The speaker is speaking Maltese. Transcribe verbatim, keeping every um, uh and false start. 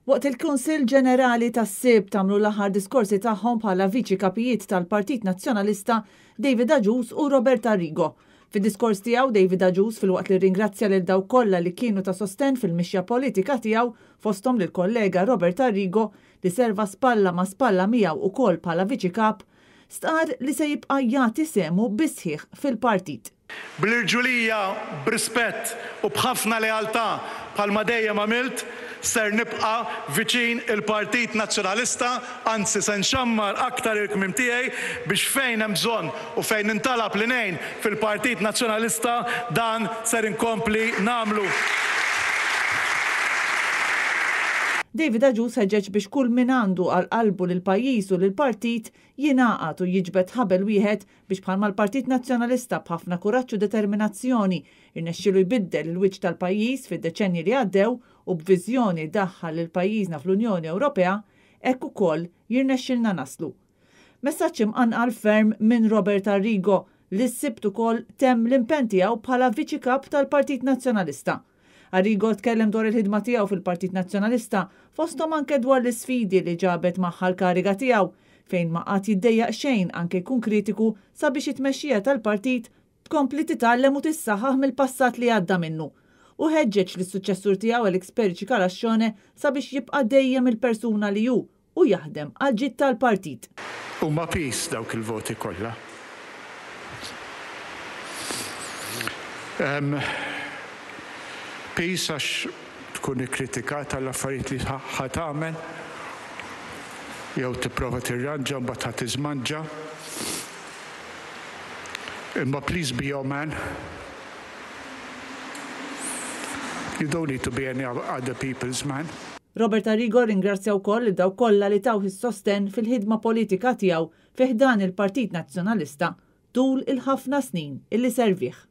Waqt il-Kunsill Ġenerali tas-Sibt għamlu l-aħħar diskorsi tagħhom bħala viċi kapijiet tal-Partit Nazzjonalista David Agius u Robert Arrigo. Fid-diskors tiegħu, David Agius, filwaqt li ringrazzja lil dawk kollha li kienu ta' sosten fil-mixja politika tiegħu, fosthom lil kollega Robert Arrigo li serva spalla ma' spalla miegħu ukoll bħala viċi kap, stqar li se jibqa' jagħti sehmu bis-sħiħ fil-partit. Bl-irġulija, b'rispett u b'ħafna lealtà, bħalma dejjem għamilt, ser nibqa' viċin il-Partit Nazzjonalista, anzi se nxammar aktar il-kmiem tiegħi biex fejn hemm bżonn u fejn nintalab li ngħin fil-Partit Nazzjonalista, dan ser inkompli nagħmlu. David Agius ħeġġeġ biex kull min għandu għal qalbu lil pajjiż u lil partit jingħaqad u jiġbed ħabel wieħed biex bħalma l-Partit Nazzjonalista b'ħafna kuraġġ u determinazzjoni irnexxielu jbiddel il-wiċċ tal-pajjiż fid-deċennji li għaddew u b'viżjoni daħħal lil pajjiżna fl-Unjoni Ewropea, hekk ukoll jirnexxilna naslu. Messaġġ imqanqal ferm minn Robert Arrigo li s-Sibt ukoll temm l-impenn tiegħu bħala viċi kap tal-Partit Nazzjonalista. Arrigo tkellem dwar il-ħidma tiegħu fil-Partit Nazzjonalista, fosthom anke dwar l-isfidi li ġabet magħha l-kariga tiegħu, fejn ma qatt jiddejjaq xejn anke jkun kritiku sabiex it-tmexxija tal-partit tkompli titgħallem u tissaħħaħ mill-passat li għadda minnu. U ħeġġeġ lis-suċċessur tiegħu Alex Perici Calascione sabiex jibqa' dejjem il-persuna li hu u jaħdem għal ġid tal-partit. Huma piż dawk il-voti kollha. Piż għax tkun ikkritikata l-affarijiet li ħa tagħmel jew tipprova tirranġa, mbagħad ħa tiżmanġa. Imma please be your man. You don't need to be any other people's man. Robert Arrigo ringrazzja wkoll lil dawk kollha li tawh is-sostenn fil-ħidma politika tiegħu fi ħdan il-Partit Nazzjonalista tul il-ħafna snin illi servih.